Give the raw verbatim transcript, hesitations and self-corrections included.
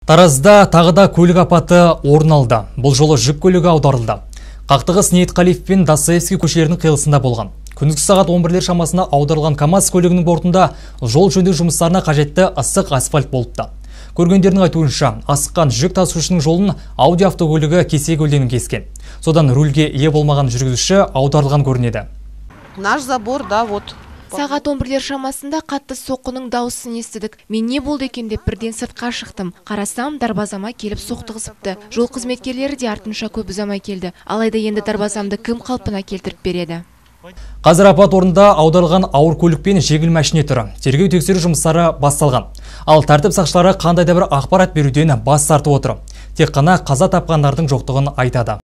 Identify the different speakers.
Speaker 1: Таразда тағыда көлік апаты орын алды. Бұл жолы жүк көлігі аударылды. Қақтығыс Ниетқалиев пен Достоевский көшелерінің қиылысында болған. Күндізгі сағат он бірлер шамасына аударылған КамАЗ көлігінің бортында жол жөндеу жұмыстарына қажетті ыстық асфальт болыпты. Көргендердің айтуынша, асыққан жүк тасушының жолын Audi автокөлігі кесе көлденің кескен. Содан рульге ие болмаған жүргізуші аударылған көрінеді.
Speaker 2: Наш забор, да, вот.
Speaker 3: Сағат он бірлер шамасында қатты соққының дауысын естідік. Мен не болды екен деп бірден сыртқа шықтым. Қарасам, дарбазама келіп соқтығысыпты. Жол қызметкерлері де артынша көп ұзамай келді. Алайда енді дарбазамды кім қалпына келтіріп береді?
Speaker 1: Қазір апат орнында аударылған ауыр көлік пен жеңіл машина түрі. Тергеу тексеру жұмыстары басталған. Ал тәртіп сақшылары қандай да бір ақпарат беруден бас тартып отыр. Тек қана қаза тапқандардың жоқтығын айтады.